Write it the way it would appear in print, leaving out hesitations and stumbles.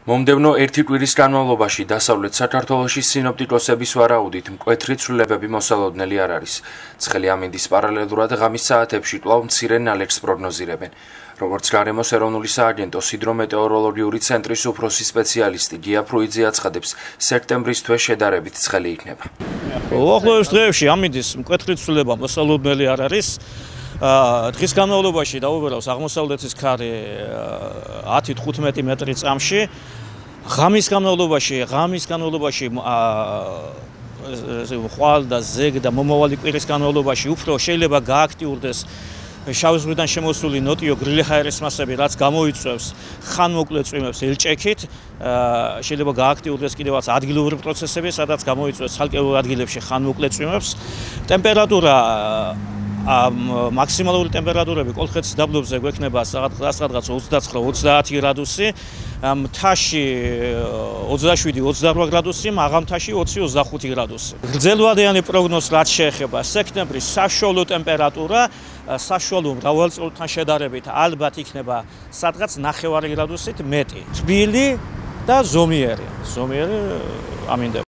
მომდევნო ერთი კვირის განმავლობაში დასავლეთ საქართველოში სინოპტიკოსების ვარაუდით მკვეთრი ცვლილებები მოსალოდნელი არ არის. ცხელი ამინდის პარალელურად ღამის საათებში კვლავ მცირე ნალექს პროგნოზირებენ. როგორც გარემოს ეროვნული სააგენტოს ჰიდრომეტეოროლოგიური ცენტრის უფროსი სპეციალისტი გია ფრუიძე აცხადებს, სექტემბრის თვე შედარებით ცხელი იქნება. უახლოეს დღეებში ამინდის მკვეთრი ცვლილება მოსალოდნელი არ არის. დღის განმავლობაში დაუბრუნავს აღმოსავლეთის ქარი 10-15 მეტრი წამში. ღამის განმავლობაში ხვალ და ზეგ და მომავალი კვირის განმავლობაში უფრო შეიძლება გააქტიურდეს შავი ზღვიდან შემოსული ნოტიო გრილი ჰაერის მასები, რაც გამოიწვევს ხანმოკლე წვიმებს ელჭექით, შეიძლება გააქტიურდეს კიდევაც ადგილობრივი პროცესები, სადაც გამოიწვევს ცალკეულ ადგილებში ხანმოკლე წვიმებს. ტემპერატურა მაქსიმალური ტემპერატურები კოლხეთის დაბლობზე გვექნება სადღაც 29-30 გრადუსი, მთაში 27-28 გრადუსი, მაღალმთაში 20-25 გრადუსი. გრძელვადიანი პროგნოზს რაც შეეხება სექტემბრის საშუალო ტემპერატურა, საშუალო მრავალწლოვთან შედარებით ალბათ იქნება სადღაც 9 გრადუსით მეტი. თბილი და ზომიერი ამინდება.